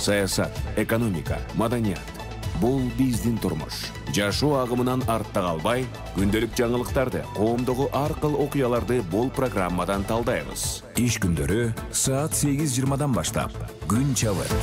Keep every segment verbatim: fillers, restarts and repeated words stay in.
саясат, экономика, маданият. Бул биздин турмуш. Жашоо агымынан артта калбай, күндөлүк жаңылыктарды, коомдогу ар кыл окуяларды бул программадан талдайбыз. Иш күндөрү саат сегиз жыйырмадан баштап. Күн чабыт.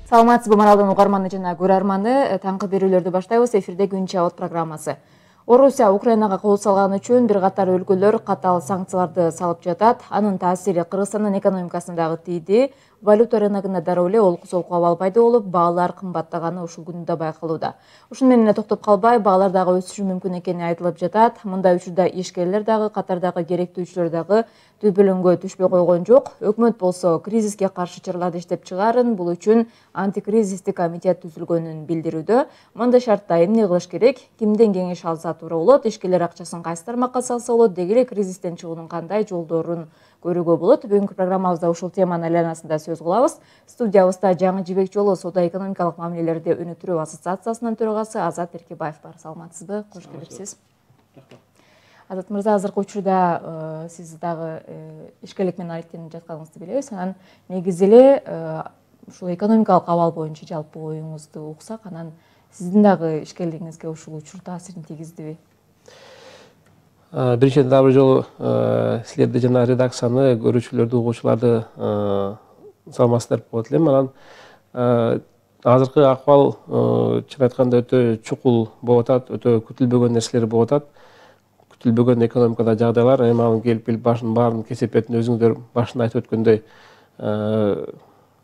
Саламатсызбы Маралдын угарманы жана көрөрманы, таңкы берүүлөрдү баштайбыз. Эфирде Күн чабыт программасы. Орусия Украинага кол салган үчүн бир катар өлкөлөр катаал санкцияларды салып жатат. Анын таасири Кыргызстандын экономикасына дагы тийди. Валюта рыногунда дароо эле олку-солку абал пайда болуп, баалар кымбаттаганы ушул күндө байкалууда. Ушуну менен токтоп калбай, баалар дагы өсүшү мүмкүн экени айтылып жатат. Мындай учурда ишкерлер дагы, катардагы керектүүчүлөр дагы төбөлөнгө түшпөй койгон жок. Өкмөт болсо кризиске каршы чараларды иштеп чыгарын, бул үчүн антикризистик комитет түзүлгөнүн билдирүүдө. Мындай шартта эмне кылыш керек, кимден кеңеш алса туура болот, ишкерлер акчасын кайсы тармакка салса болот, деги эле кризистен чыгуунун кандай жолдорун көрүүгө болот. Бүгүнкү программабызда ушул теманын айланасында сөз кылабыз. Студиябызда Жаңы Жибек жолу соода-экономикалык мамилелерди өнүктүрүү ассоциациясынын төрагасы Азат Эркебаев бар. Саламатсызбы? Кош келипсиз. Азат мырза, азыркы учурда сиз дагы ишкерлик менен алектенип жатканыңызды билебиз. Анан негизи эле ушул экономикалык абал боюнча жалпы оюңузду уксак, анан сиздин дагы ишкерлигиңизге ушул учур таасирин тийгиздиби? Биринчиден дагы бир жолу силерди жана редакцияны, көрүүчүлөрдү, угуучуларды саламатсыздар деп коет элем. Анан азыркы акыбал чын айтканда өтө чукул болуп атат, өтө күтүлбөгөн нерселер болуп атат. Күтүлбөгөн экономикада жагдайлар, эми анын келип келип башын баарын кесип бетин өзүңүздөр башында айтып өткөндөй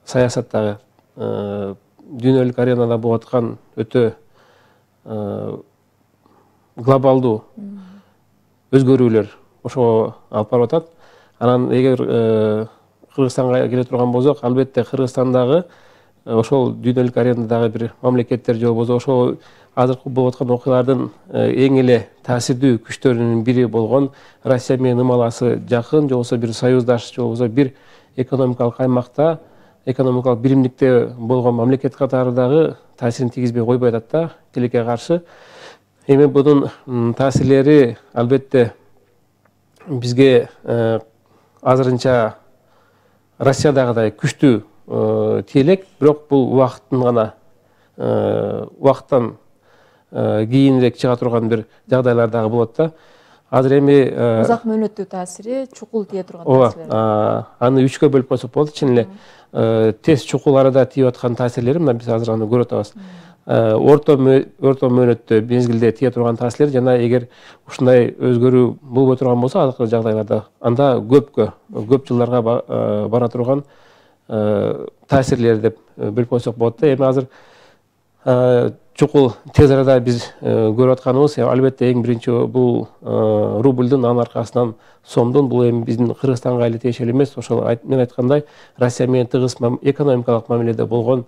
саясаттагы дүйнөлүк аренада болуп аткан өтө глобалдуу өзгөрүүлөр ошого алып барып атат. Анан эгер Кыргызстанга келе турган болсок, албетте Кыргызстандагы ошол дүйнөлүк аренадагы бир мамлекеттер же болбосо ошол азыркы болуп аткан окуялардын эң эле таасирдүү күчтөрүнүн бири болгон Россия менен ымаласы жакын, же болбосо бир союздаш, же болбосо бир экономикалык аймакта, экономикалык биримдикте болгон мамлекет катары дагы таасирин тийгизбей койбой атат да, тилекке каршы. Эми бунун таасирлери албетте бизге азырынча Россиядагыдай күчтүү тиелек, бирок бул убакыттын гана убакыттан кийинирээк чыга турган бир жагдайлар дагы болот да. Азыр эми узак мөөнөттүү таасири, чукул тие турган таасирлер. Ооба, аны үчкө бөлүп койсок болот. Чын эле тез чукул арада тийип аткан таасирлери мына биз азыр аны көрүп атабыз. Орто орто мөөнөттө мезгилде тие турган таасирлер жана эгер ушундай өзгөрүү болбой турган болсо азыркы жагдайларда, анда көпкө, көп жылдарга бара турган таасирлер деп бөлүп койсок болот да. Эми азыр чукул тез арада биз көрүп атканыбыз албетте эң биринчи бул рубльдун, анын аркасынан сомдун, бул эми биздин Кыргызстанга эле тиешелүү эмес. Ошол мен айткандай Россия менен тыгыз экономикалык мамиледе болгон,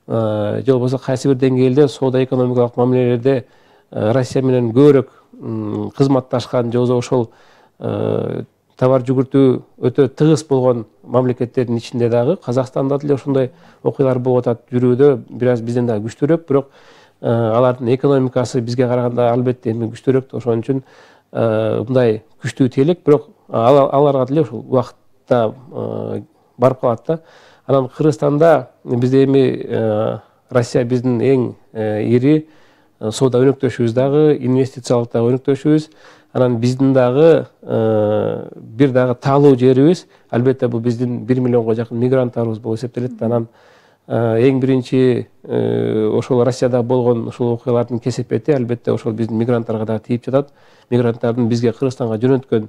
же болбосо кайсы бир деңгээлде соода-экономикалык мамилелерде Россия менен көбүрөөк кызматташкан, же болбосо ошол товар жүгүртүү өтө тыгыз болгон мамлекеттердин ичинде дагы Казакстанда деле ошондой окуялар болуп атат. Жүрүүдө бир аз бизден дагы күчтүүрөөк, бирок алардын экономикасы бизге караганда албетте эми күчтүүрөөк. Ошон үчүн мындай күчтүү тиелек, бирок аларга деле ушул убакытта барып калат да. Анан Кыргызстанда бизде эми Россия биздин эң ири соода өнөктөшүбүз дагы, инвестициялык дагы өнөктөшүбүз. Анан биздин дагы бир дагы таалуу жерибиз, албетте бул биздин бир миллионго жакын мигранттарыбыз болуп эсептелет. Анан эң биринчи ошол Россияда болгон ошол окуялардын кесепети албетте ошол биздин мигранттарга дагы тийип жатат. Мигранттардын бизге Кыргызстанга жөнөткөн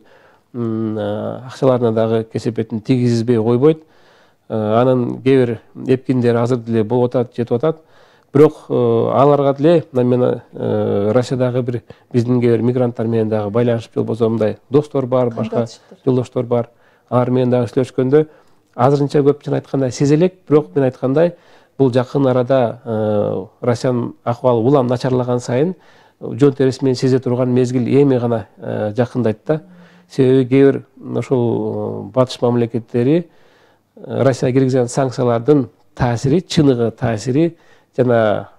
акчаларына дагы кесепетин тийгизбей койбойт. Анын кээ бир эпкиндери азыр деле болуп атат, жетип атат. Бирок аларга деле мен Россиядагы бир биздин кээ бир мигранттар менен дагы байланышып, же болбосо мындай достор бар, башка жолдоштор бар. Алар менен дагы сүйлөшкөндө азырынча көпчүн айткандай сезелек, бирок мен айткандай бул жакын арада Россиянын акыбалы улам начарлаган сайын жон терisi менен сезе турган мезгил эми гана жакындайт да. Себеби кээ бир ошол батыш мамлекеттери Россияга киргизген санкциялардын таасири, чыныгы таасири жана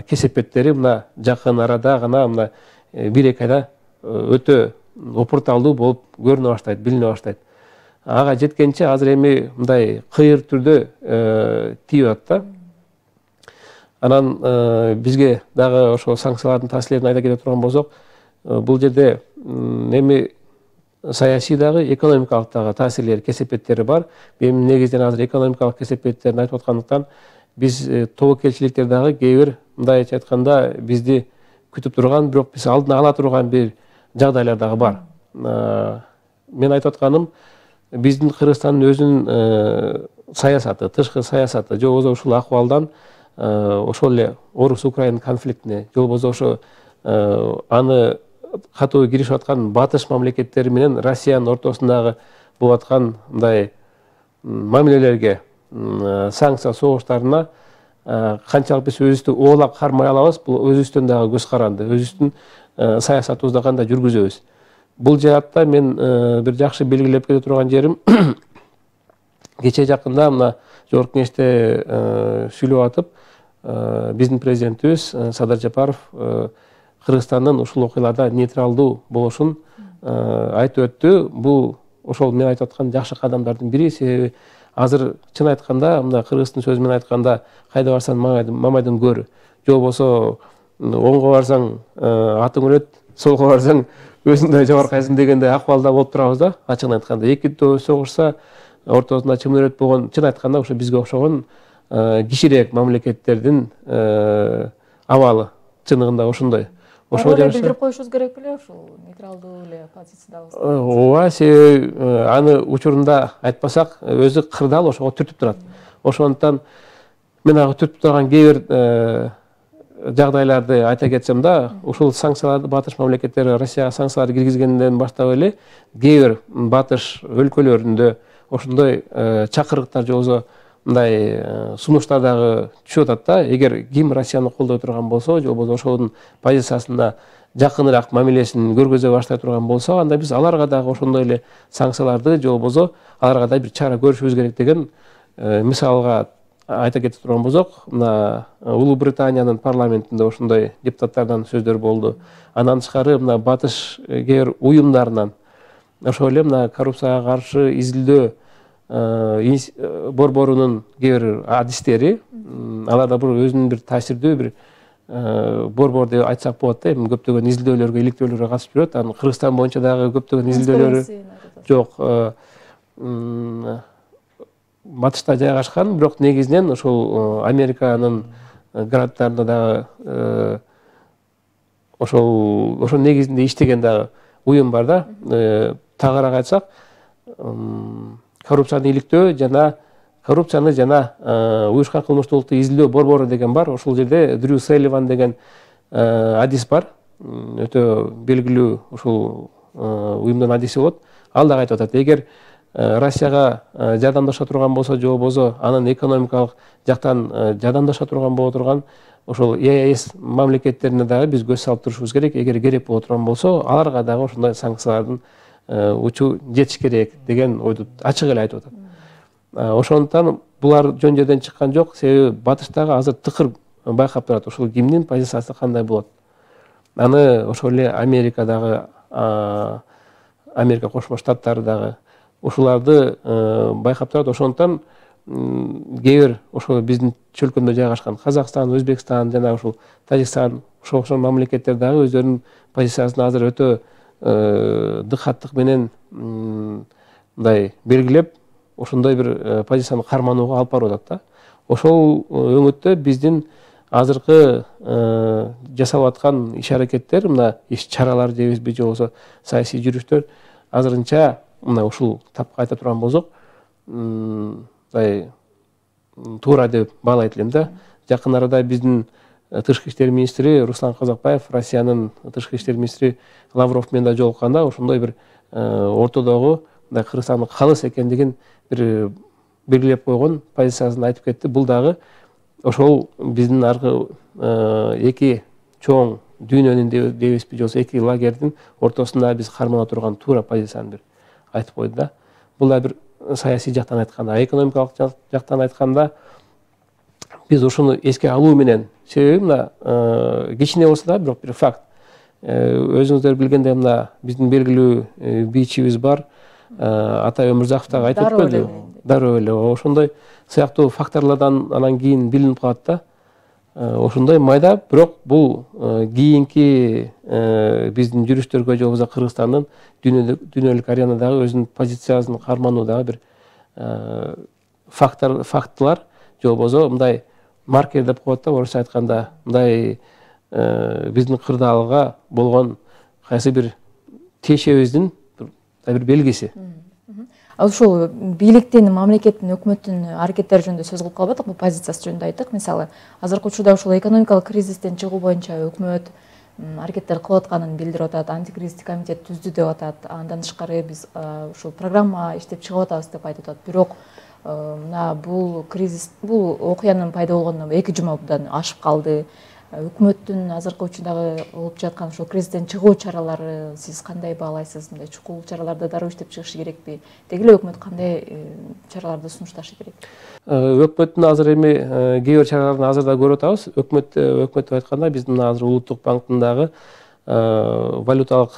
кесепеттери мына жакын арада гана мына бир эки айда өтө опурталдуу болуп көрүнө баштайт, билине баштайт. ага жеткенче азыр эми мындай кыйыр түрдө тийип атат да. Анан бизге дагы ошо санкциялардын таасирлерин айта кете турган болсок, бул жерде эми саясий дагы экономикалык дагы таасирлери, кесепеттери бар. Мен негизинен азыр экономикалык кесепеттерин айтып аткандыктан биз тобокелчиликтер дагы кээ бир мындайча айтканда бизди күтүп турган, бирок биз алдын ала турган бир жагдайлар дагы бар. Мен айтып атканым, биздин Кыргызстандын өзүнүн саясаты, тышкы саясаты, же болбосо ушул акыбалдан ошол эле Орус-Украина конфликтине, же болбосо ошо аны катуу киришип аткан батыш мамлекеттери менен Россиянын ортосундагы болуп аткан мындай мамилелерге, санкция согуштарына канчалык биз өзүбүздү оолап кармай алабыз, бул өзүбүздөн дагы көз каранды, өзүбүздүн саясатыбызды кандай жүргүзөбүз. Бул жаатта мен бир жакшы белгилеп кете турган жерим, кече жакында мына Жогорку Кеңеште сүйлөп атып, биздин президентибиз Садыр Жапаров Кыргызстандын ушул окуяларда нейтралдуу болушун айтып өттү. Бул ошол мен айтып аткан жакшы кадамдардын бири. Себеби азыр чын айтканда, мына кыргыздын сөзү менен айтканда, кайда барсаң мамайдын көрү, же болбосо оңго барсаң атың өлөт, солго барсаң өзүңдөй жабаркайсың дегендей акыбалда болуп турабыз да. Ачыгын айтканда, эки төө согушса ортосунда чымын өлөт болгон, чын айтканда ошо бизге окшогон кичирээк мамлекеттердин абалы чыныгында ошондой. Ошол эле билдирип коюшубуз керек беле, ушул нейтралдуу эле позициядабыз. Ооба, себеби аны учурунда айтпасак, өзү кырдаал ошого түртүп турат. Ошондуктан мен ага түртүп турган кээ бир жагдайларды айта кетсем да, ушул санкцияларды батыш мамлекеттери Россияга санкцияларды киргизгенден баштап эле кээ бир батыш өлкөлөрүндө ошондой чакырыктар же болбосо мындай сунуштар дагы түшүп атат да. Эгер ким Россияны колдой турган болсо, же болбосо ошонун позициясына жакыныраак мамилесин көргөзө баштай турган болсо, анда биз аларга дагы ошондой эле санкцияларды же болбосо аларга да бир чара көрүшүбүз керек деген мисалга айта кете турган болсок, мына Улуу Британиянын парламентинде ошондой депутаттардан сөздөр болду. Андан тышкары мына батыш кээ бир уюмдарынан ошол эле мына коррупцияга каршы изилдөө борборунун кээ бир адистери, алар да бир өзүнүн бир таасирдүү бир борбор деп айтсак болот да. Эми көптөгөн изилдөөлөргө, иликтөөлөргө катышып жүрөт. Анын Кыргызстан боюнча дагы көптөгөн изилдөөлөрү жок. Батышта жайгашкан, бирок негизинен ошол Американын гранттарында дагы ошол ошол негизинде иштеген дагы уюм бар да. Тагыраак айтсак, коррупцияны иликтөө жана коррупцияны жана уюшкан кылмыштуулукту изилдөө борбору деген бар. Ошол жерде Дрю Селливан деген адис бар. Өтө белгилүү ушул уюмдун адиси болот. Ал дагы айтып атат, эгер Россияга жардамдаша турган болсо, же болбосо анын экономикалык жактан жардамдаша турган боло турган ошол Е Эс мамлекеттерине дагы биз көз салып турушубуз керек. Эгер керек боло турган болсо, аларга дагы ошондой санкциялардын учу жетиш керек деген ойду ачык эле айтып атат. Ошондуктан булар жөн жерден чыккан жок. Себеби батыштагы азыр тыкыр байкап турат, ошол кимдин позициясы кандай болот. Аны ошол эле Америкадагы, Америка Кошмо Штаттары дагы ушуларды байкап турат. Ошондуктан кээ бир ошол биздин чөлкөмдө жайгашкан Казакстан, Өзбекстан жана ушул Тажикстан, ошол окшогон мамлекеттер дагы өздөрүнүн позициясын азыр өтө дыкаттык менен мындай белгилеп, ошондой бир позицияны карманууга алып барып атат да. Ошол өңүттө биздин азыркы жасалып аткан иш-аракеттер, мына иш-чаралар дейбизби, же болбосо саясий жүрүштөр азырынча мына ушул тапка айта турган болсок, мындай туура деп баалайт элем да. Жакын арада биздин тышкы иштер министри Руслан Казакбаев, Россиянын тышкы иштер министри Лавров менен да жолукканда ошондой бир ортодогу мындай Кыргызстандын калыс экендигин бир белгилеп койгон позициясын айтып кетти. Бул дагы ошол биздин аркы эки чоң дүйнөнүн дейбизби, же болбосо эки лагердин ортосунда биз кармана турган туура позицияны бир айтып койду да. Бул да бир саясий жактан айтканда, экономикалык жактан айтканда биз ушуну эске алуу менен, себеби мына кичине болсо да бирок бир факт. Өзүңүздөр билгендей, мына биздин белгилүү бийчибиз бар, Атай Өмүрзаков дагы айтып өткөндү. Дароо эле ошондой сыяктуу факторлордон анан кийин билинип калат да. Ошондой майда, бирок бул кийинки биздин жүрүштөргө же болбосо Кыргызстандын дүйнөлүк аренадагы өзүнүн позициясын кармануудагы бир фактор фактылар же болбосо мындай маркер деп коет да, орусча айтканда, мындай биздин кырдаалга болгон кайсы бир тиешебиздин бир белгиси. Ал ушул бийликтин, мамлекеттин, өкмөттүн аракеттери жөнүндө сөз кылып калбадык, бул позициясы жөнүндө айттык. Мисалы, азыркы учурда ушул экономикалык кризистен чыгуу боюнча өкмөт аракеттер кылып атканын билдирип атат, антикризистик комитет түздү деп атат. Андан тышкары биз ушул программа иштеп чыгып атабыз деп айтып атат. Бирок мына бул кризис, бул окуянын пайда болгонуна эки жумадан ашып калды. Өкмөттүн азыркы учурдагы алып жаткан ушул кризистен чыгуу чаралары сиз кандай баалайсыз? Мындай чукул чараларды дароо иштеп чыгышы керекпи? Деги эле өкмөт кандай чараларды сунушташы керек? Өкмөттүн азыр эми кээ бир чараларын азыр да көрүп атабыз. Өкмөт өкмөт деп айтканда биздин азыр Улуттук банктын дагы валюталык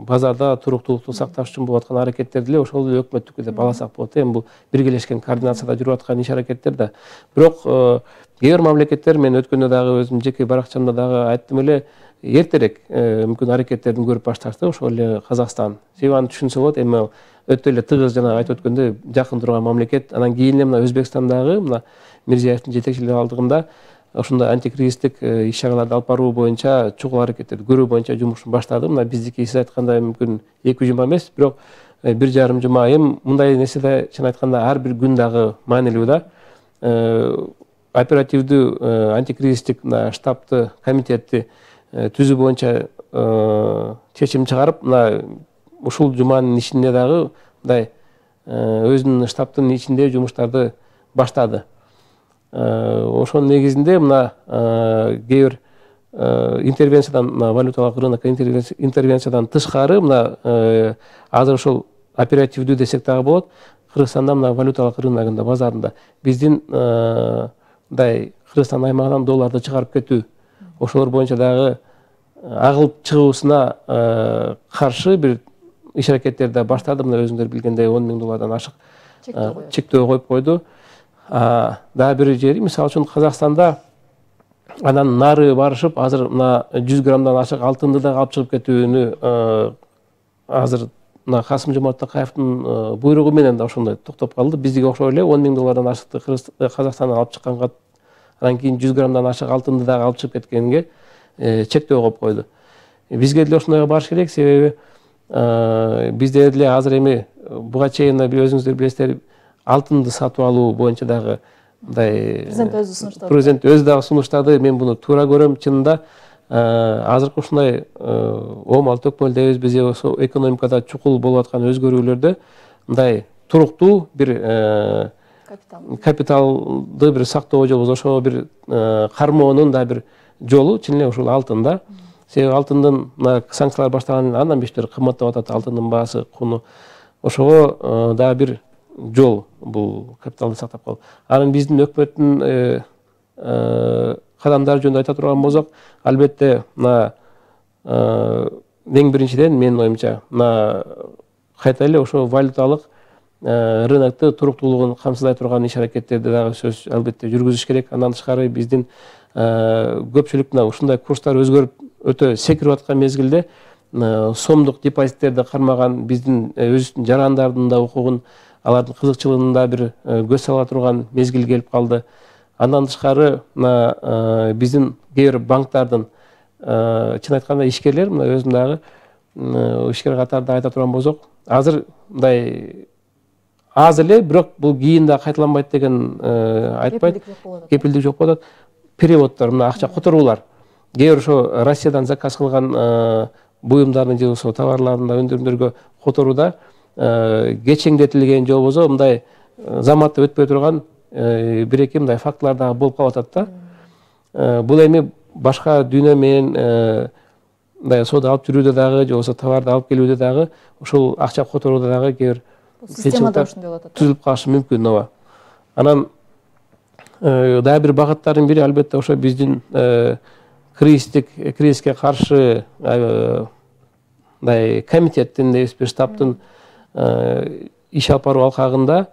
базарда туруктуулукту сакташ үчүн болуп аткан аракеттерди эле ошол эле өкмөттүкү деп алсак болот. Эми бул биргелешкен координацияда жүрүп аткан иш аракеттер да. Бирок кээ бир мамлекеттер, мен өткөндө дагы өзүм жеке баракчамда дагы айттым эле, эртерээк мүмкүн аракеттерин көрүп башташты, ошол эле Казакстан. Себеби аны түшүнсө болот, эми өтө эле тыгыз жана айтып өткөндөй жакын турган мамлекет. Анан кийин эле мына Өзбекстандагы мына Мирзиевдин жетекчилиги алдыгында ошондой антикризистик иш чараларды алып баруу боюнча, чукул аракеттерди көрүү боюнча жумушун баштады. Мына биздики сиз айткандай мүмкүн эки жума эмес, бирок бир жарым жума. Эми мындай нерседе чын айтканда ар бир күн дагы маанилүү да. Оперативдүү антикризистик штабты, комитетти түзүү боюнча чечим чыгарып, мына ушул жуманын ичинде дагы мындай өзүнүн штабтын ичинде жумуштарды баштады. Ошонун негизинде мына кээ бир интервенциядан, валюталык рынок интервенциядан тышкары, мына азыр ошол оперативдүү десек дагы болот, Кыргызстанда мына валюталык рыногунда, базарында биздин мындай Кыргызстан аймагынан долларды чыгарып кетүү, ошолор боюнча дагы агылып чыгуусуна каршы бир иш аракеттерди баштады. Мына өзүңөр билгендей он миң доллардан ашык чектөө коюп койду. Дагы бир жери, мисалы үчүн Казакстанда анан нары барышып, азыр мына жүз граммдан ашык алтынды да алып чыгып кетүүнү азыр мына Касым-Жомарт Токаевдин буйругу менен да ошондой токтоп калды. Биздики окшой эле он миң доллардан ашыкты Казакстандан алып чыкканга, анан кийин жүз граммдан ашык алтынды дагы алып чыгып кеткенге чектөө коюп койду. Бизге деле ошондойго барыш керек, себеби бизде деле азыр эми буга чейин өзүңүздөр билесиздер, алтынды сатып алуу боюнча дагы мындай президент өзү сунуштады. Президент өзү дагы сунуштады. Мен буну туура көрөм. Чынында азыркы ушундай оомал төкмөлдөбүз биз, ошо экономикада чукул болуп аткан өзгөрүүлөрдө мындай туруктуу бир капиталды бир сактоо же болбосо ошого бир кармоонун да бир жолу чын эле ушул алтын да. Себеби алтындын санкциялар башталгандан андан бештери кымбаттап атат алтындын баасы, куну. Ошого дагы бир жол бул капиталды сактап калуу. Анан биздин өкмөттүн кадамдары жөнүндө айта турган болсок, албетте мына эң биринчиден менин оюмча мына кайта эле ошо валюталык рынокту туруктуулугун камсыздай турган иш аракеттерди дагы сөз албетте жүргүзүш керек. Андан тышкары биздин көпчүлүк мына ушундай курстар өзгөрүп өтө секирип аткан мезгилде сомдук депозиттерди кармаган биздин өзүбүздүн жарандардын да укугун, алардын кызыкчылыгын да бир көз сала турган мезгил келип калды. Андан тышкары мына биздин кээ бир банктардын чын айтканда ишкерлер, мына өзүм дагы ишкер катарында айта турган болсок, азыр мындай аз эле, бирок бул кийин да кайталанбайт деген айтпайт. Кепилдик жок болот. Переводдор, мына акча которуулар. Кээ бир ошо Россиядан заказ кылган буюмдардын же болбосо товарлардын да өндүрүмдөргө которууда кечеңдетилген же болбосо мындай заматта өтпөй турган бир эки мындай фактылар дагы болуп калып атат да. Бул эми башка дүйнө менен мындай соода алып жүрүүдө дагы же болбосо товарды алып келүүдө дагы ушул акча которууда дагы кээ бир системада ушундай болуп атат. Түзүлүп калышы мүмкүн, ооба. Анан дагы бир багыттардын бири албетте ошо биздин кризистик кризиске каршы мындай комитеттин, штабтын иш алып баруу алкагында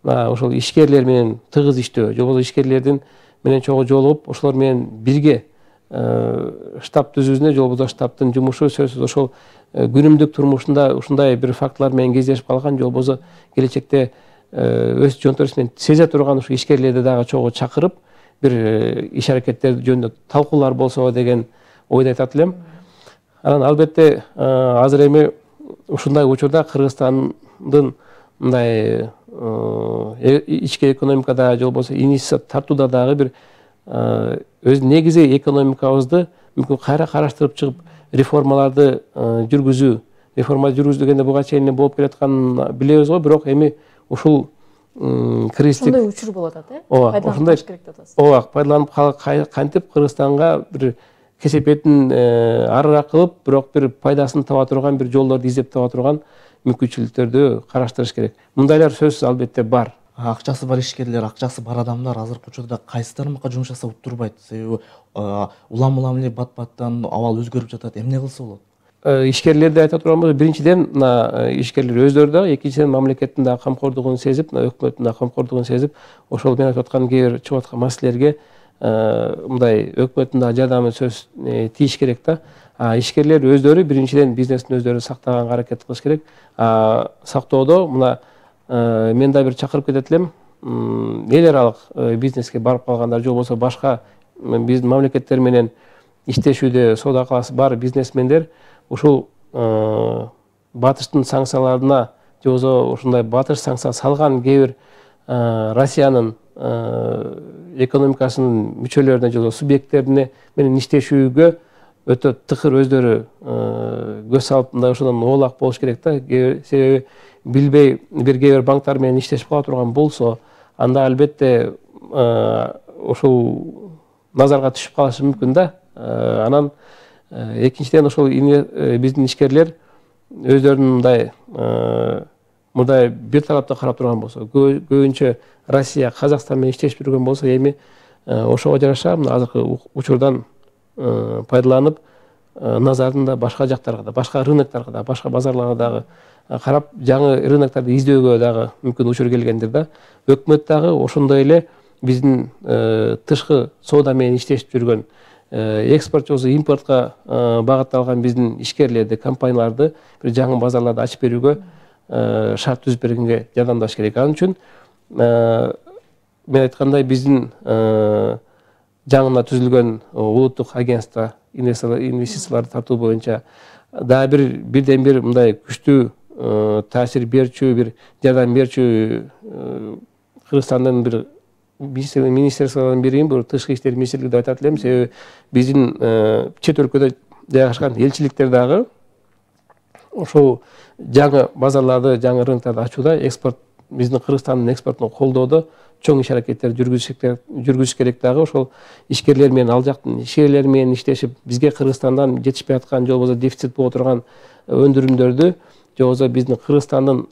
ошол ишкерлер менен тыгыз иштөө, же болбосо ишкерлердин менен чогуу жолугуп, ошолор менен бирге штаб түзүүсүнө, же болбосо штабтын жумушу сөзсүз ошол күнүмдүк турмушунда ушундай бир фактылар менен кездешип калган, же болбосо келечекте өз жонторусу менен сезе турган ушу ишкерлерди дагы чогуу чакырып, бир иш аракеттер жөнүндө талкуулар болсо деген ойду айтат элем. Анан албетте азыр эми ушундай учурда Кыргызстандын мындай ички экономикада, же болбосо инвестиция тартууда дагы бир өз негизи экономикабызды мүмкүн кайра караштырып чыгып, реформаларды жүргүзүү, реформа жүргүзүү дегенде буга чейин болуп келатканын билебиз го, бирок эми ушул кризистик ошондой учур болуп атат, э? Пайдаланып керек деп атасыз. Ооба, пайдаланып кантип Кыргызстанга бир кесепетин арыраак кылып, бирок бир пайдасын таба турган, бир жолдорду издеп таба турган мүмкүнчүлүктөрдү караштырыш керек. Мындайлар сөзсүз албетте бар. Акчасы бар ишкерлер, акчасы бар адамдар азыркы учурда кайсы тармакка жумуш жасап утурбайт? Себеби улам улам эле бат-баттан абал өзгөрүп жатат. Эмне кылса болот? Ишкерлерди айта турган болсо, биринчиден мына ишкерлер өздөрү да, экинчиден мамлекеттин да камкордугун сезип, өкмөттүн да камкордугун сезип, ошол мен айтып аткан кээ бир чыгып аткан маселелерге мындай өкмөттүн да жардамы сөз тийиш керек да. Ишкерлер өздөрү биринчиден бизнестин өздөрү сактаганга аракет кылыш керек. Сактоодо мына мен да бир чакырып кетет элем, эл аралык бизнеске барып калгандар, же болбосо башка биздин мамлекеттер менен иштешүүдө соода кыласы бар бизнесмендер ушул батыштын санкцияларына, же болбосо ушундай батыш санкция салган кээ бир Россиянын экономикасынын мүчөлөрүнө, же болбосо субъекттерине менен иштешүүгө өтө тыкыр өздөрү көз салып, мындай ошондон оолак болуш керек да. Себеби билбей бир кээ бир банктар менен иштешип кала турган болсо, анда албетте ушул назарга түшүп калышы мүмкүн да. Анан экинчиден ошол биздин ишкерлер өздөрүнүн мындай мындай бир тараптуу карап турган болсо, көбүнчө Россия, Казакстан менен иштешип жүргөн болсо, эми ошого жараша мына азыркы учурдан пайдаланып, назарын да башка жактарга да, башка рынокторго да, башка базарларга дагы карап, жаңы рынокторду издөөгө дагы мүмкүн учур келгендир да. Өкмөт дагы ошондой эле биздин тышкы соода менен иштешип жүргөн, экспорт же болбосо импортко багытталган биздин ишкерлерди, компанияларды бир жаңы базарларды ачып берүүгө шарт түзүп бергенге жардамдаш керек. Ал үчүн мен айткандай биздин жаңына түзүлгөн улуттук агентство инвестицияларды тартуу боюнча дагы бир бирден бир мындай күчтүү таасир берчү, бир жардам берчү Кыргызстандын бир министрликтердин бирин, бул тышкы иштер министрлиги деп айтат элем. Себеби биздин чет өлкөдө жайгашкан элчиликтер дагы ошол жаңы базарларды, жаңы рынокторду ачууда, экспорт, биздин Кыргызстандын экспортун колдоодо чоң иш аракеттер жүргүзүш керек дагы. Ошол ишкерлер менен, ал жактын ишкерлери менен иштешип, бизге Кыргызстандан жетишпей аткан, же болбосо дефицит боло турган өндүрүмдөрдү, же болбосо биздин Кыргызстандын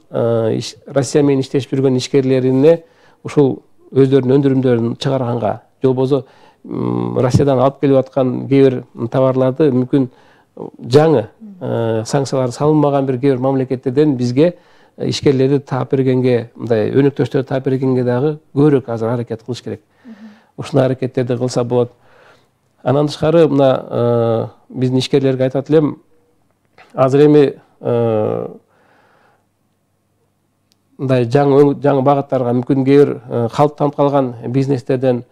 Россия менен иштешип жүргөн ишкерлерине ушул өздөрүнүн өндүрүмдөрүн чыгарганга, же болбосо Россиядан алып келип аткан кээ бир товарларды мүмкүн жаңы санкциялар салынмаган бир кээ бир мамлекеттерден бизге ишкерлерди таап бергенге, мындай өнөктөштөрдү таап бергенге дагы көбүрөөк азыр аракет кылыш керек. Ушундай аракеттерди кылса болот. Анан тышкары мына биздин ишкерлерге айтат элем, азыр эми мындай жаңы жаңы багыттарга мүмкүн кээ бир калыптанып калган бизнестерден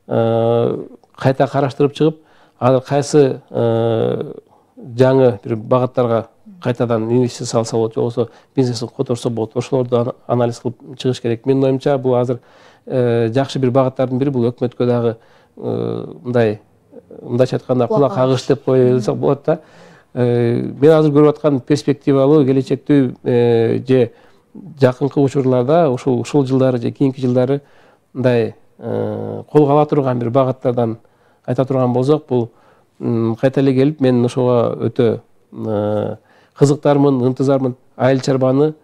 кайта караштырып чыгып, азыр кайсы жаңы бир багыттарга кайтадан инвестиция салса болот, же болбосо бизнесин которсо болот, ошолорду анализ кылып чыгыш керек. Менин оюмча, бул азыр жакшы бир багыттардын бири, бул өкмөткө дагы мындай мындайча айтканда кулак кагыш деп коюлса болот да. Мен азыр көрүп аткан перспективалуу, келечектүү же жакынкы учурларда, ушул ушул жылдары же кийинки жылдары мындай колго ала турган бир багыттардан айта турган болсок, бул кайта эле келип, мен ошого өтө кызыктармын, ынтызармын. Айыл чарбаны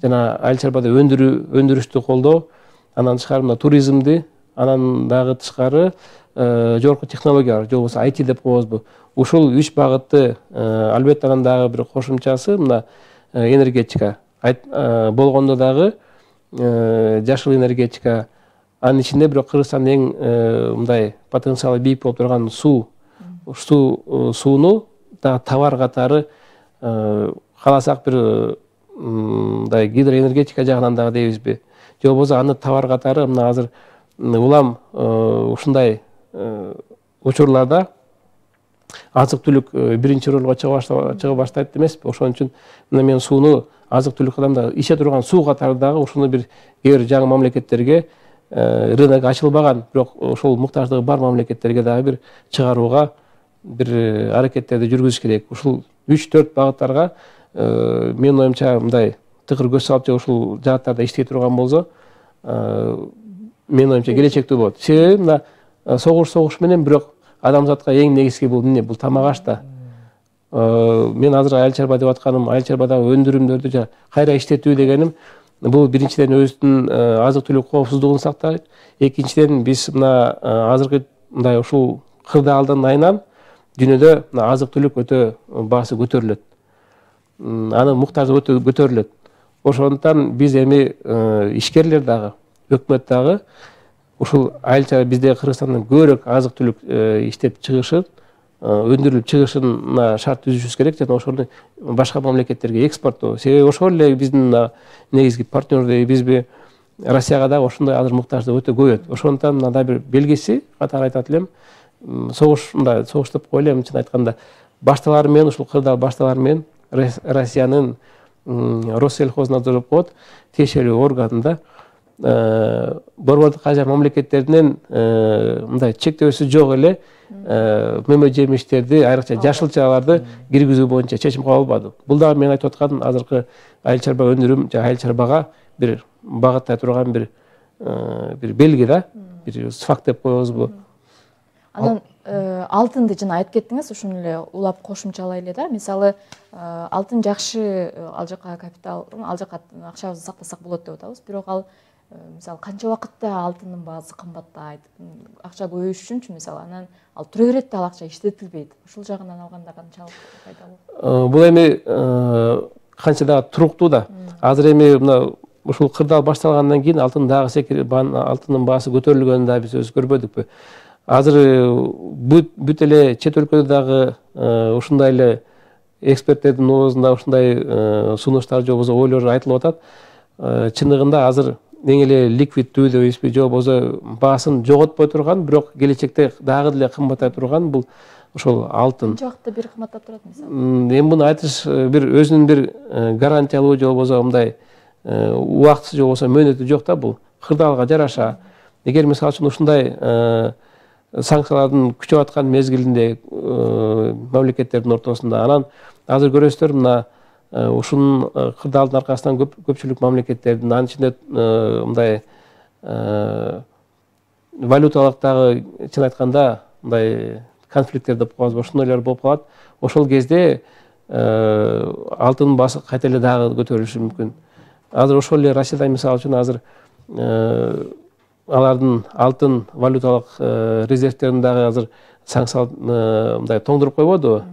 жана айыл чарбада өндүрүү, өндүрүштү колдоо, анан тышкары мына туризмди, анан дагы тышкары жогорку технологиялар, же болбосо ай ти деп коебузбу. Ушул үч багытты, албетте анан дагы бир кошумчасы мына энергетика. болгондо дагы жашыл энергетика, анын ичинде бирок Кыргызстандын эң мындай потенциалы бийик болуп турган суу, ушул сууну дагы товар катары кааласак бир мындай гидроэнергетика жагынан дагы дейбизби, же болбосо аны товар катары мына азыр улам ушундай учурларда азык-түлүк биринчи ролго чыга баштайт эмеспи. Ошон үчүн мына мен сууну азык-түлүк катарында иче турган суу катары дагы ушуну бир кээ бир жаңы мамлекеттерге рынок ачылбаган, бирок ошол муктаждыгы бар мамлекеттерге дагы бир чыгарууга бир аракеттерди жүргүзүш керек. Ушул үч төрт багыттарга менин оюмча мындай тыкыр көз салып же ушул жааттарда иштей турган болсо, менин оюмча келечектүү болот. Себеби мына согуш согуш менен, бирок адамзатка эң негизги бул эмне? Бул тамак аш да. Мен азыр айыл чарба деп атканым, айыл чарбадагы өндүрүмдөрдү кайра иштетүү дегеним, бул биринчиден өзүнүн азык-түлүк коопсуздугун сактайт. Экинчиден биз мына азыркы мындай ушул кырдаалдын айынан дүйнөдө мына азык-түлүк өтө баасы көтөрүлөт. Анын муктаждыгы өтө көтөрүлөт. Ошондуктан биз эми ишкерлер дагы, өкмөт дагы ушул айылча бизде Кыргызстандын көбүрөөк азык-түлүк иштеп чыгышын, өндүрүлүп чыгышына шарт түзүшүбүз керек жана ошону башка мамлекеттерге экспорттоо. Себеби ошол эле биздин негизги партнер дейбизби, Россияга дагы ошондой азыр муктаждык өтө көбөйт. Ошондуктан мына да бир белгиси катары айтат элем, согуш мындай согуш деп коелу, чын айтканда башталары менен, ушул кырдаал башталары менен Россиянын Россельхознадзор деп коет, тиешелүү органында борбордук ажар мамлекеттеринен мындай чектөөсү жок эле мөмө жемиштерди, айрыкча жашылчаларды киргизүү боюнча чечим кабыл албады. Бул дагы мен айтып аткан азыркы айыл чарба өндүрүм же айыл чарбага бир багыттай турган бир бир белги да, бир факт деп коебузбу. Анан алтынды жана айтып кеттиңиз, ушуну эле улап кошумчалай эле да. Мисалы, алтын жакшы, ал жака капитал, ал жака акчабызды сактасак болот деп атабыз. Бирок ал мисалы канча убакытта алтындын баасы кымбаттайт, акча көбөйүш үчүнчү мисалы, анан ал тура берет да, ал акча иштетилбейт. Ушул жагынан алганда канчалык пайдалуу? Бул эми канча дагы туруктуу да. Азыр эми мына ушул кырдаал башталгандан кийин алтын дагы секирип, алтындын баасы көтөрүлгөнүн дагы биз өзү көрбөдүкпү. Азыр бүт эле чет өлкөдө дагы ушундай эле эксперттердин оозунда ушундай сунуштар же болбосо ойлор айтылып атат. Чындыгында азыр эң эле ликвиддүү дейбизби, же болбосо баасын жоготпой турган, бирок келечекте дагы деле кымбаттай турган бул ошол алтын. Канча убакытта бир кымбаттап турат мисалы? Эми муну айтыш бир өзүнүн бир гарантиялуу же болбосо мындай убакыты же болбосо мөөнөтү жок да, бул кырдаалга жараша. Эгер мисалы үчүн ушундай санкциялардын күчөп аткан мезгилинде мамлекеттердин ортосунда, анан азыр көрөсүздөр мына ушунун кырдаалдын аркасынан көпчүлүк мамлекеттердин, анын ичинде мындай валюталык дагы чын айтканда мындай конфликттер деп коебузбу, ошондойлор болуп калат. Ошол кезде алтындын баасы кайта эле дагы көтөрүлүшү мүмкүн. Азыр ошол эле Россияда мисалы үчүн азыр алардын алтын валюталык резервтерин дагы азыр санкциялап мындай тоңдуруп койбодубу?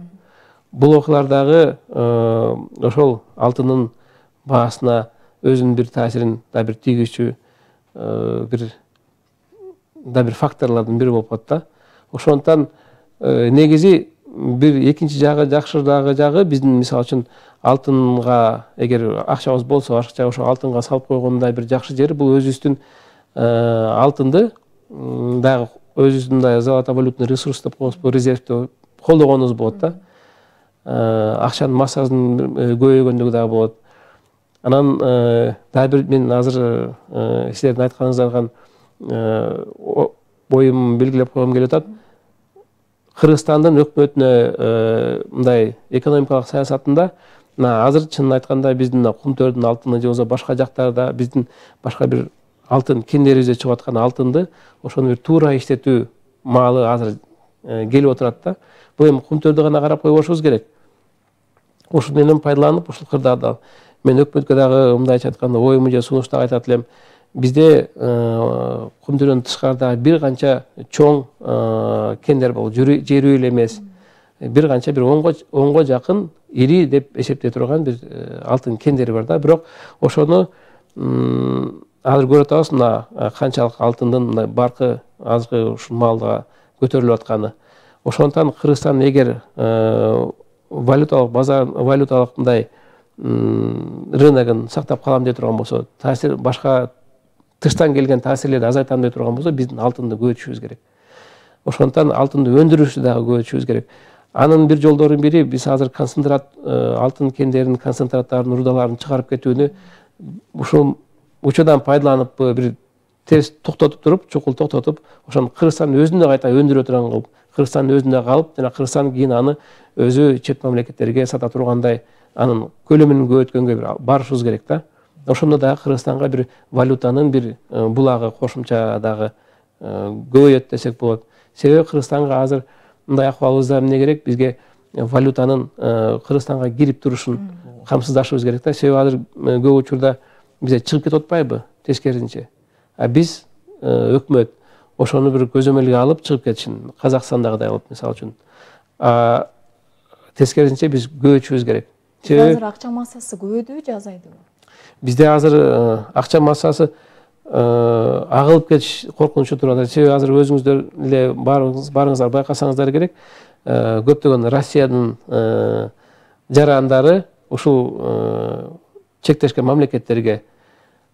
Бул окуялар дагы ошол алтындын баасына өзүнүн бир таасирин да бир тийгизчү бир да бир факторлордун бири болуп калат да. Ошондуктан негизи бир экинчи жагы жакшыраагы жагы биздин мисалы үчүн алтынга эгер акчабыз болсо, ашыкча ошо алтынга салып койгондой бир жакшы жери бул өзүбүздүн алтынды дагы өзүбүздүн мындай золотовалютный ресурс деп коебузбу, резервди колдогонубуз болот да. Акчанын массасынын көбөйгөндүгү дагы болот. Анан дагы бир мен азыр силердин айтканыңыздардан оюм белгилеп койгум келип атат. Кыргызстандын өкмөтүнө мындай экономикалык саясатында азыр чынын айтканда биздин Кумтөрдүн алтыны же болбосо башка жактарда биздин башка бир алтын кендерибизде чыгып аткан алтынды ошону бир туура иштетүү маалы азыр келип отурат да. Бул эми Кумтөрдү гана карап койбошубуз керек. Ошол менен пайдаланып, ушул кырдаалда мен өкмөткө дагы мындайча айтканда оюму же сунушту айтат элем. Бизде Кумтөрдөн тышкарыдагы бир канча чоң кендер бар, жер эле эмес. Бир канча бир онго жакын ири деп эсептей турган бир алтын кендери бар да. Бирок ошону азыр көрүп атабыз, мына канчалык алтындын мына баркы азыркы ушул маалга көтөрүлүп атканы. Ошондуктан Кыргызстан эгер валюталык базар, валюталык мындай рыногун сактап калам дей турган болсо, таасир башка тыштан келген таасирлерди азайтам дей турган болсо, биздин алтынды көбөйтүшүбүз керек. Ошондуктан алтынды өндүрүштү дагы көбөйтүшүбүз керек. Анын бир жолдорунун бири биз азыр концентрат алтын кендеринин концентраттарын, рудаларын чыгарып кетүүнү ушул учурдан пайдаланып бир тез токтотуп туруп, чукул токтотуп, ошону Кыргызстандын өзүндө кайта өндүрө турган кылып, Кыргызстандын өзүндө калып, жана Кыргызстан кийин аны өзү чет мамлекеттерге сата тургандай анын көлөмүн көбөйткөнгө бир барышыбыз керек да. Ошондо дагы Кыргызстанга бир валютанын бир булагы кошумча дагы көбөйөт десек болот. Себеби Кыргызстанга азыр мындай акыбалыбызда эмне керек? Бизге валютанын Кыргызстанга кирип турушун камсыздашыбыз керек да. Себеби азыр көп учурда бизде чыгып кетип атпайбы тескерисинче. А биз өкмөт ошону бир көзөмөлгө алып чыгып кетишин, Казакстандагыдай кылып мисалы үчүн. А тескерисинче биз көбөйтүшүбүз керек. Азыр акча массасы көбөйдүбү же азайдыбы? Бизде азыр акча массасы агылып кетиш коркунучу турат. Себеби азыр өзүңүздөр эле барыңыз барыңыздар байкасаңыздар керек, көптөгөн Россиянын жарандары ушул чектешкен мамлекеттерге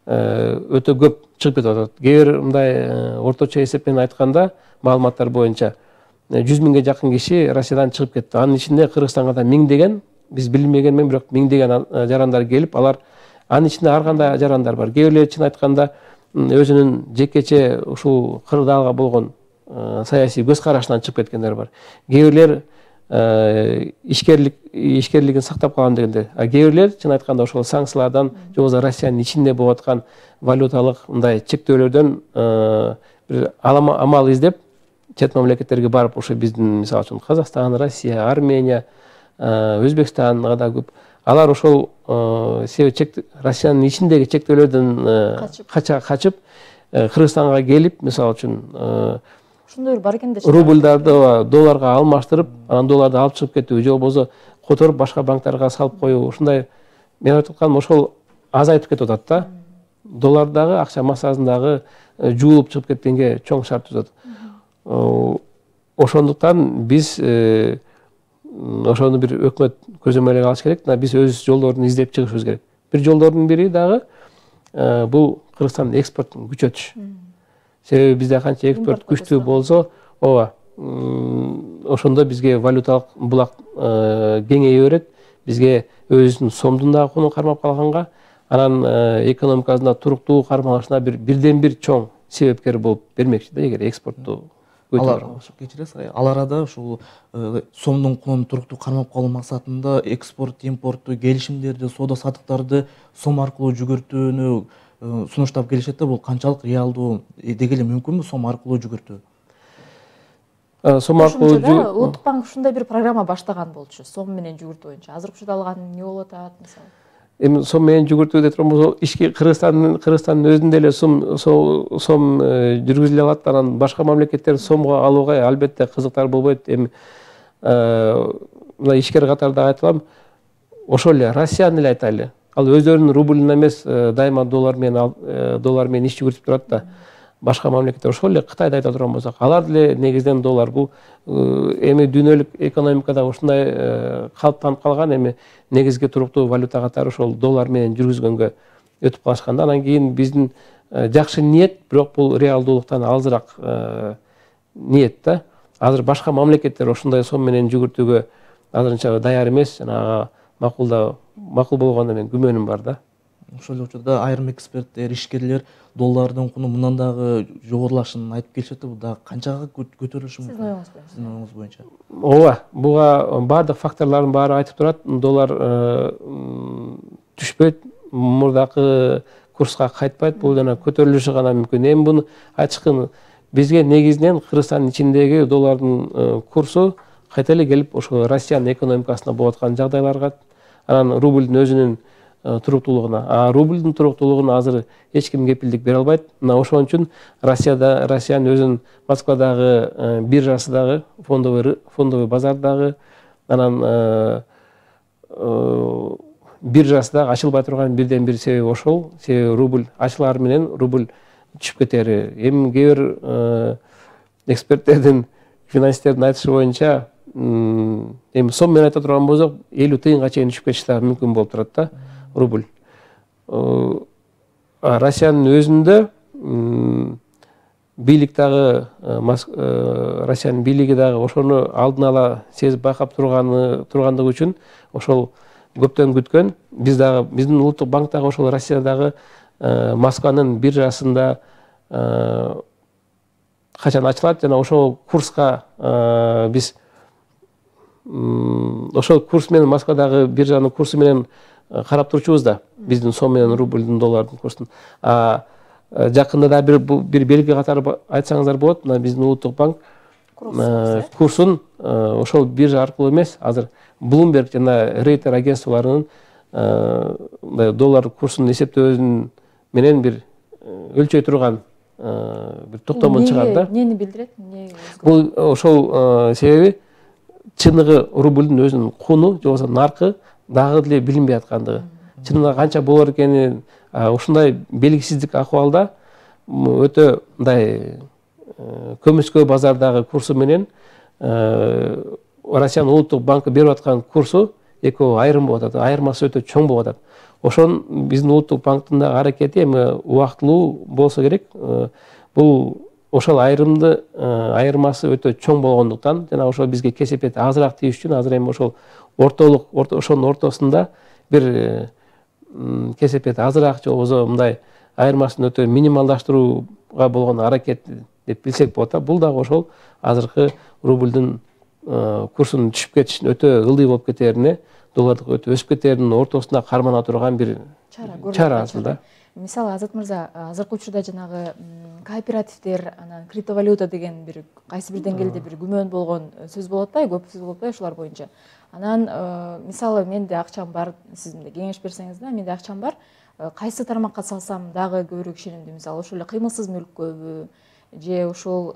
өтө көп чыгып кетип атат. Кээ бир мындай орточо эсепмен айтканда, маалыматтар боюнча жүз миңге жакын киши Россиядан чыгып кетти. Анын ичинде Кыргызстанга да миңдеген, биз билмегенмен бирок миңдеген жарандар келип, алар анын ичинде ар кандай жарандар бар. Кээ бирлери чын айтканда өзүнүн жекече ушул кырдаалга болгон саясий көз карашынан чыгып кеткендер бар. Кээ бирлер ишкерлик ишкерлигин сактап калам дегендер. А кээ бирлер чын айтканда ошол санкциялардан, же болбосо Россиянын ичинде болуп аткан валюталык мындай чектөөлөрдөн бир амал издеп чет мамлекеттерге барып, ошо биздин мисалы үчүн Казакстан, Россия, Армения, Өзбекстанга да көп. Алар ошол себеби Россиянын ичиндеги чектөөлөрдөн кача качып Кыргызстанга келип, мисалы үчүн ошондой бар экен да. Рубльдарды долларга алмаштырып, анан долларды алып чыгып кетүү, же болбосо которуп башка банктарга салып коюу. Ушундай мен айтып атканым ошол азайтып кетип атат да. Доллардагы акча массасындагы жуулуп чыгып кеткенге чоң шарт түзөт. Ошондуктан биз ошону бир өкмөт көзөмөлгө алыш керек. Биз өз жолдорун издеп чыгышыбыз керек. Бир жолдордун бири дагы бул Кыргызстандын экспортун күчөтүш. Себеби бизде канча экспорт күчтүү болсо, ооба, ошондо бизге валюталык булак кеңейе берет. Бизге өзүнүн сомдун дагы кунун кармап калганга, анан экономикасында туруктуу кармалышына бир бирден бир чоң себепкер болуп бермекчи да, эгер экспортту кечиресиз. Ал арада ушул сомдун кунун туруктуу кармап калуу максатында экспорт, импортту, келишимдерди, соода саттыктарды сом аркылуу жүгүртүүнү сунуштап келишет да. Бул канчалык реалдуу, деги эле мүмкүнбү сом аркылуу жүгүртүү? Сом аркылуу Улуттук банк ушундай бир программа баштаган болчу, сом менен жүгүртүү боюнча. Азыр учурда алган эмне болуп атат мисалы? Эми сом менен жүгүртүү деп турган болсо, ишки Кыргызстандын Кыргызстандын өзүндө эле сом сом жүргүзүлө алат. Анан башка мамлекеттер сомго алууга албетте кызыктар болбойт. Эми мына ишкер катарда айтылам, ошол эле Россияны эле айтайлы. Ал өздөрүнүн рубльүн эмес, дайыма доллар менен доллар менен иш жүгүртүп турат да. Башка мамлекеттер ошол эле Кытайды айта турган болсок, алар деле негизинен доллар. Бул эми дүйнөлүк экономикада ушундай калыптанып калган. Эми негизги туруктуу валюта катары ошол доллар менен жүргүзгөнгө өтүп калышканда, анан кийин биздин жакшы ниет, бирок бул реалдуулуктан алысыраак ниет да. Азыр башка мамлекеттер ошондой сом менен жүгүртүүгө азырынча даяр эмес. Жана макулда макул болгонуна мен күмөнүм бар да. Ошол учурда айрым эксперттер, ишкерлер доллардын куну мындан дагы жогорулашын айтып келишет. Бул дагы канчага көтөрүлүшү мүмкүн? Сиздин оюңуз боюнча? Ооба, буга баардык факторлордун баары айтып турат. Доллар түшпөйт, мурдакы курска кайтпайт. Бул жана көтөрүлүшү гана мүмкүн. Эми буну айтышкын бизге негизинен Кыргызстандын ичиндеги доллардын курсу кайта эле келип ошо Россиянын экономикасына болуп аткан жагдайларга, анан рубльдин өзүнүн туруктуулугуна. А рубльдин туруктуулугун азыр эч ким кепилдик бере албайт. Мына ошон үчүн Россияда Россиянын өзүнүн Москвадагы биржасы дагы, фондовый фондовый базар дагы, анан биржасы дагы ачылбай турган бирден бир себеби ошол. Себеби рубль ачылар менен рубль түшүп кетери. Эми кээ бир эксперттердин, финансисттердин айтышы боюнча, эми сом менен айта турган болсок, элүү тыйынга чейин түшүп кетиши дагы мүмкүн болуп турат да рубль. Россиянын өзүндө бийлик дагы, Россиянын бийлиги дагы ошону алдын ала сезип байкап турганы тургандыгы үчүн ошол көптөн күткөн. Биз дагы, биздин улуттук банк дагы ошол Россиядагы Москванын биржасында качан ачылат жана ошол курска биз ошол курс менен Москвадагы биржанын курсу менен карап турчубуз да, биздин сом менен рубльдин, доллардын курсун. А жакында да бир бир белги катары айтсаңыздар болот. Мына биздин улуттук банк курсун ошол биржа аркылуу эмес, азыр Bloomberg жана Рейтер агентстволорунун доллар курсунун эсептөөсүн менен бир өлчөй турган бир токтомун чыгарды да. Эмнени билдирет? Бул ошол себеби чыныгы рубльдин өзүнүн куну же болбосо наркы дагы деле билинбей аткандыгы. Чынында канча болор экени, ушундай белгисиздик акыбалда өтө мындай көмүскө базардагы курсу менен Россиянын улуттук банкы берип аткан курсу экөө айрым болуп атат. Айырмасы өтө чоң болуп атат. Ошон биздин улуттук банктын да аракети эми убактылуу болсо керек. Бул ошол айрымды айырмасы өтө чоң болгондуктан жана ошол бизге кесепет азыраак тийиш үчүн азыр эми ошол ортолук ошонун ортосунда бир кесепет азыраак же болбосо мындай айырмасын өтө минималдаштырууга болгон аракет деп билсек болот да. Бул дагы ошол азыркы рубльдин курсунун түшүп кетишин, өтө ылдый болуп кетерине, доллардык өтө өсүп кетеринин ортосунда кармана турган бир чара асылда. Мисалы, Азат мырза, азыркы учурда жанагы кооперативдер, анан криптовалюта деген бир кайсы бир деңгээлде бир күмөн болгон сөз болот да, көп сөз болот да ушулар боюнча. Анан мисалы, менде акчам бар, сиз мындай кеңеш берсеңиз да, менде акчам бар, кайсы тармакка салсам дагы көбүрөөк ишенимдүү, мисалы, ошол эле кыймылсыз мүлккөбү же ошол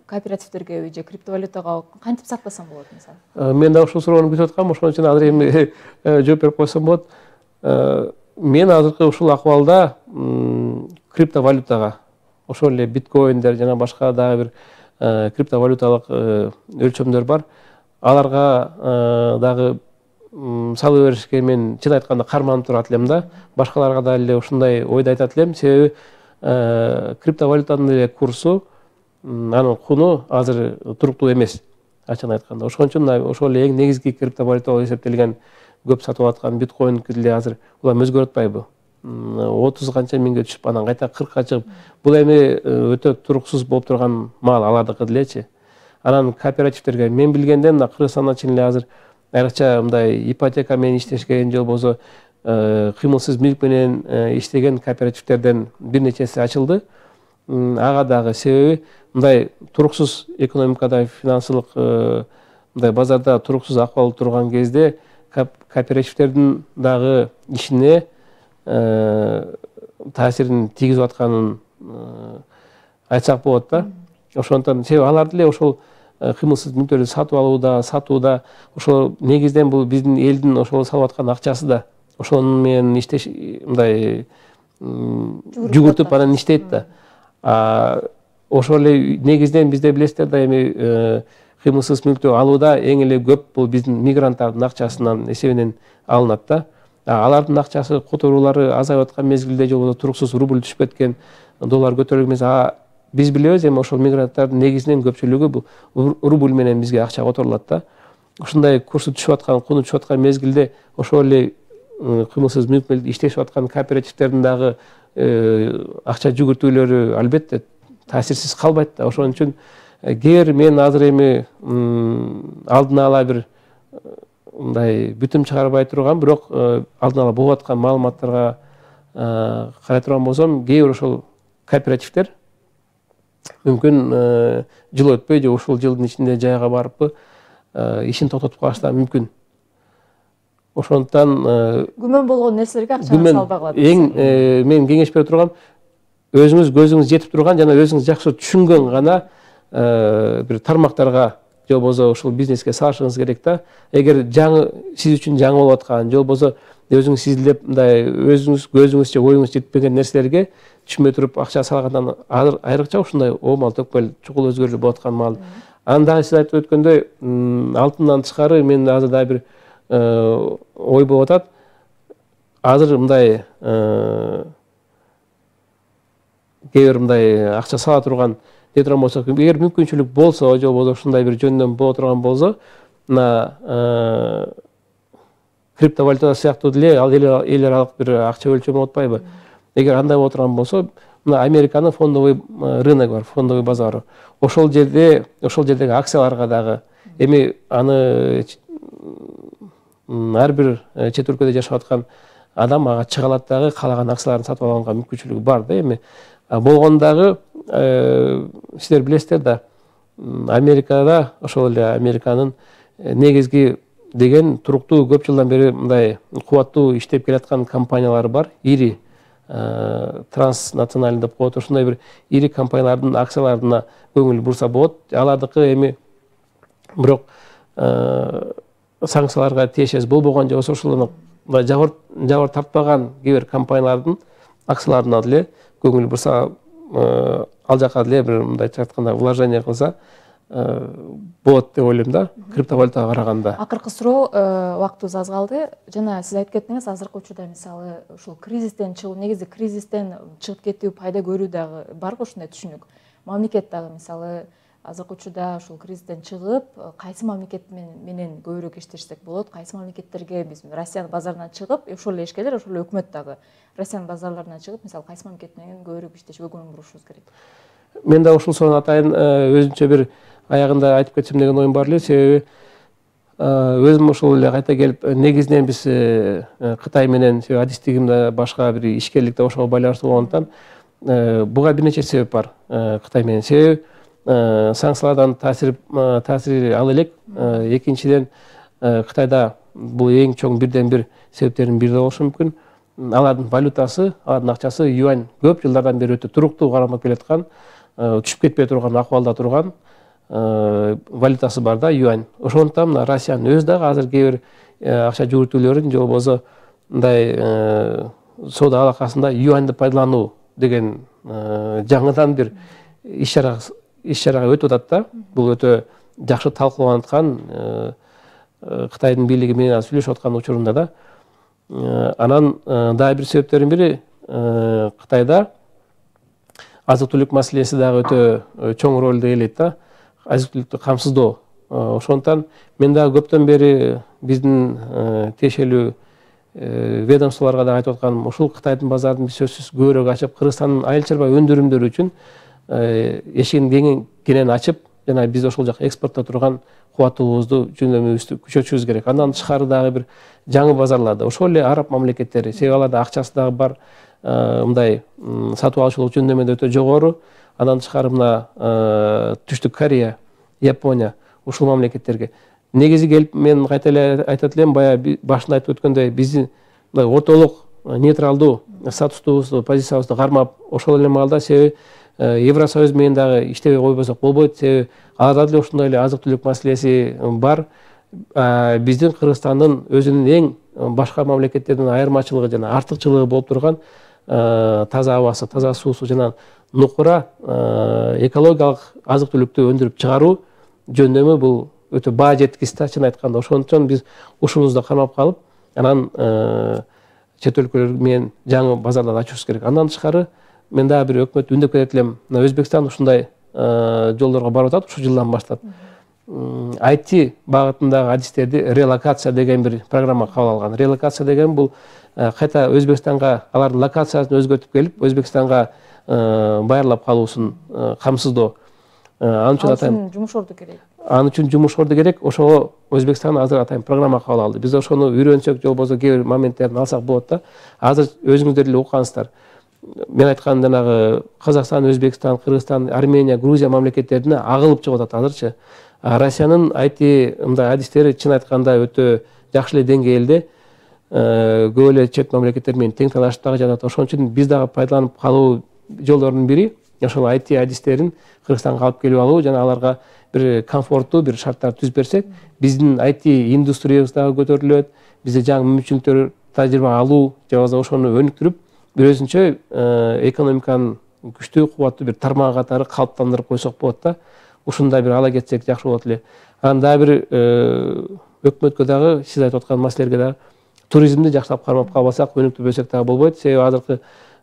кооперативдерге же криптовалютага кантип сактасам болот мисалы? Мен да ушул суроону күтүп аткам, ошон үчүн азыр эми жооп берип койсом болот. Мен азыркы ушул акыбалда криптовалютага, ошол эле биткоиндер жана башка дагы бир криптовалюталык өлчөмдөр бар. Аларга дагы салып беришке мен чын айтканда карманып турат элем да. Башкаларга да эле ушундай ойду айтат элем. Себеби криптовалютанын эле курсу, анын куну азыр туруктуу эмес, ачыгын айтканда. Ошон үчүн ошол эле эң негизги криптовалюта болуп эсептелген көп сатып аткан биткоин деле азыр улам өзгөрүп атпайбы? отуз канча миңге түшүп, анан кайта кыркка чыгып, бул эми өтө туруксуз болуп турган маал алардыкы делечи. Анан кооперативдерге мен билгенде мына Кыргызстанда чын эле азыр айрыкча мындай ипотека менен иштешкен же болбосо кыймылсыз мүлк менен иштеген кооперативдерден бир нечеси ачылды. Ага дагы себеби мындай туруксуз экономикада, финансылык мындай базарда туруксуз акыбал турган кезде кооперативдердин дагы ишине таасирин тийгизип атканын айтсак болот да. Ошондон себеби алар деле ошол кыймылсыз мүлктөрдү сатып алууда, сатууда, ошол негизден бул биздин элдин ошол салып аткан акчасы да ошонун менен иштеш мындай жүгүртүп анан иштейт да. Ошол эле негизден бизде билесиздер да, эми кыймылсыз мүлктү алууда эң эле көп бул биздин мигранттардын акчасынан эсебинен алынат да. Алардын акчасы которуулары азайып аткан мезгилде же болбосо туруксуз рубль түшүп кеткен, доллар көтөрүлгөн мезгилде биз билебиз, эми ошол мигранттардын негизинен көпчүлүгү бул рубль менен бизге акча которулат да. Ушундай курсу түшүп аткан, куну түшүп аткан мезгилде ошол эле кыймылсыз мүлк менен иштешип аткан кооперативдердин дагы акча жүгүртүүлөрү албетте таасирсиз калбайт да. Ошон үчүн кээ бир мен азыр эми алдын ала бир мындай бүтүм чыгарбай турган, бирок алдын ала болуп аткан маалыматтарга карай турган болсом, кээ бир ошол кооперативдер мүмкүн жыл өтпөй же ушул жылдын ичинде жайга барыппы ишин токтотуп калышы да мүмкүн. Ошондуктан күмөн болгон нерселерге акчаны салбай калат. Эң мен кеңеш бере турган, өзүңүз көзүңүз жетип турган жана өзүңүз жакшы түшүнгөн гана бир тармактарга же болбосо ушул бизнеске салышыңыз керек да. Эгер жаңы сиз үчүн жаңы болуп аткан, же болбосо өзүңүз изилдеп мындай өзүңүз көзүңүз же оюңуз жетпеген нерселерге түшмөй туруп акча салгандан айрыкча ушундай оомал төкпөл чукул өзгөрүүлөр болуп аткан маал. Аны дагы сиз айтып өткөндөй, алтындан тышкары мен азыр дагы бир ой болуп атат. Азыр мындай кээ бир мындай акча сала турган дей турган болсок, эгер мүмкүнчүлүк болсо, же болбосо ушундай бир жөндөм боло турган болсо, мына криптовалюта сыяктуу деле ал эл аралык бир акча өлчөмү болуп атпайбы? Эгер андай боло турган болсо, мына Американын фондовый рынок бар, фондовый базары. Ошол жерде, ошол жердеги акцияларга дагы эми аны ар бир чет өлкөдө жашап аткан адам ага чыга алат дагы, каалаган акцияларын сатып алганга мүмкүнчүлүгү бар да. Эми болгону дагы сиздер билесиздер да, Америкада ошол эле Американын негизги деген туруктуу көп жылдан бери мындай кубаттуу иштеп келаткан компаниялары бар. Ири транснациональный деп коет. Ошондой бир ири компаниялардын акцияларына көңүл бурса болот. Алардыкы эми бирок санкцияларга тиешеси болбогон же болбосо ошол жабыр тартпаган кээ бир компаниялардын акцияларына деле көңүл бурса, ал жака деле бир мындайча айтканда вложение кылса болот деп ойлойм да, криптовалютага караганда. Акыркы суроо, убактыбыз аз калды. Жана сиз айтып кеттиңиз, азыркы учурда мисалы ушул кризистен чыгуу, негизи кризистен чыгып кетүү, пайда көрүү дагы барбы ушундай түшүнүк? Мамлекет дагы мисалы азыркы учурда ушул кризистен чыгып, кайсы мамлекет менен көбүрөөк иштешсек болот? Кайсы мамлекеттерге биз Россиянын базарынан чыгып, ошол эле ишкерлер, ошол эле өкмөт дагы Россиянын базарларына чыгып, мисалы кайсы мамлекет менен көбүрөөк иштешүүгө көңүл бурушубуз керек? Мен да ушул суроону атайын өзүнчө бир аягында айтып кетсем деген оюм бар эле. Себеби өзүм ошол эле кайта келип, негизинен биз Кытай менен адистигимде башка бир ишкерликте ошого байланыштуу болгондуктан буга бир нече себеп бар. Кытай менен себеби санкциялардан таасир таасири ал элек. Экинчиден, Кытайда бул эң чоң бирден бир себептердин бири болушу мүмкүн. Алардын валютасы, алардын акчасы юань көп жылдардан бери өтө туруктуу кармап келаткан, түшүп кетпей турган акыбалда турган валютасы бар да, юань. Ошондуктан мына Россиянын өзү дагы азыр кээ бир акча жүгүртүүлөрүн же болбосо мындай соода алакасында юаньды пайдалануу деген жаңыдан бир иш чара иш чарага өтүп атат да. Бул өтө жакшы талкууланып аткан, Кытайдын бийлиги менен сүйлөшүп аткан учурунда да. Анан дагы бир себептердин бири, Кытайда азык-түлүк маселеси дагы өтө чоң ролду ээлейт да. Азык-түлүктү камсыздоо. Ошондуктан мен дагы көптөн бери биздин тиешелүү ведомстволорго дагы айтып атканым, ушул Кытайдын базарын биз сөзсүз көбүрөөк ачып, Кыргызстандын айыл чарба өндүрүмдөрү үчүн эшигин кенен ачып, жана биз ошол жака экспортто турган кубаттуулугубузду жөндөмүбүздү күчөтүшүбүз керек. Андан тышкары дагы бир жаңы базарларды, ошол эле араб мамлекеттери, себеби аларда акчасы дагы бар, мындай сатып алуучулук жөндөмү өтө жогору. Андан тышкары мына Түштүк Корея, Япония, ушул мамлекеттерге негизи келип, мен кайта эле айтат элем, баягы башында айтып өткөндөй, биздин ортолук нейтралдуу статустубузду, позициябызды кармап, ошол эле маалда себеби Евросоюз менен дагы иштебей койбосок болбойт. Себеби аларда деле ошондой эле азык-түлүк маселеси бар. Биздин Кыргызстандын өзүнүн эң башка мамлекеттерден айырмачылыгы жана артыкчылыгы болуп турган таза абасы, таза суусу жана нукура экологиялык азык-түлүктү өндүрүп чыгаруу жөндөмү бул өтө баа жеткис да, чын айтканда. Ошондуктан биз ушунубузду кармап калып, анан чет өлкөлөр менен жаңы базарларды ачуубуз керек. Андан тышкары мен дагы бир өкмөт үндөп кетет элем. Өзбекстан ушундай жолдорго барып атат ушул жылдан баштап. ай ти багытындагы адистерди релокация деген бир программа кабыл алган. Релокация деген бул кайта Өзбекстанга алардын локациясын өзгөртүп келип, Өзбекстанга байырлап калуусун камсыздоо. Ал үчүн жумуш орду керек. Ал үчүн жумуш орду керек. Ошого Өзбекстан азыр атайын программа кабыл алды. Биз ошону үйрөнсөк, же болбосо кээ бир моменттерин алсак болот да. Азыр өзүңүздөр эле уккансыздар. Мен айткан жанагы Казакстан, Өзбекстан, Кыргызстан, Армения, Грузия мамлекеттерине агылып чыгып атат азырчы. Россиянын ай ти мындай адистери чын айтканда өтө жакшы эле деңгээлде, көп эле чет мамлекеттер менен тең талашып дагы жатат. Ошон үчүн биз дагы пайдаланып калуу жолдорунун бири ошол ай ти адистерин Кыргызстанга алып келип алуу жана аларга бир комфорттуу бир шарттар түзүп берсек, биздин ай ти индустриябыз дагы көтөрүлөт, бизде жаңы мүмкүнчүлүктөр, тажрыйба алуу же болбосо ошону өнүктүрүп, бир өзүнчө экономиканын күчтүү кубаттуу бир тармагы катары калыптандырып койсок болот да. Ушундай бир ала кетсек жакшы болот эле. Анан дагы бир өкмөткө дагы сиз айтып аткан маселелерге дагы туризмди жакшылап кармап калбасак, өнүктүрбөсөк дагы болбойт. Себеби азыркы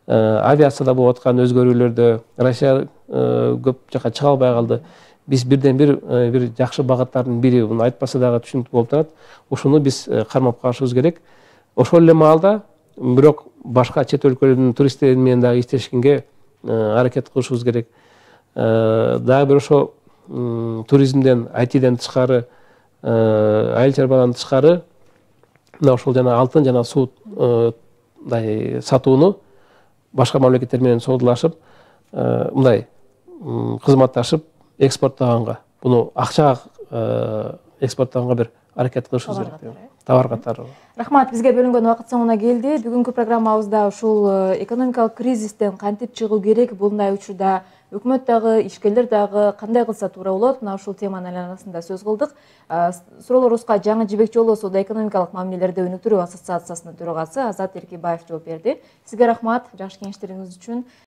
авиацияда болуп аткан өзгөрүүлөрдө Россия көп жака чыга албай калды. Биз бирден бир бир жакшы багыттардын бири, буну айтпаса дагы түшүнүктүү болуп турат. Ушуну биз кармап калышыбыз керек. Ошол эле маалда бирок башка чет өлкөлөрдүн туристтери менен дагы иштешкенге аракет кылышыбыз керек. Дагы бир ошо туризмден, ай тиден тышкары, айыл чарбадан тышкары мына ошол жана алтын жана суудай сатууну башка мамлекеттер менен соодалашып, мындай кызматташып экспорттоганга, буну акчага экспорттоганга бир аракет кылышыбыз керек. Товар катары. Рахмат, бизге бөлүнгөн убакыт соңуна келди. Бүгүнкү программабызда ушул экономикалык кризистен кантип чыгуу керек, bunday учурда өкмөт дагы, ишкерлер дагы кандай кылса туура болот? Мына ушул теманын айланасында сөз кылдык. Суроолорубузга Жаңы Жибек Жолу соода экономикалык мамилелерди өнүктүрүү ассоциациясынын төрагасы Азат Эркебаев жооп берди. Сизге рахмат жакшы кеңештериңиз үчүн.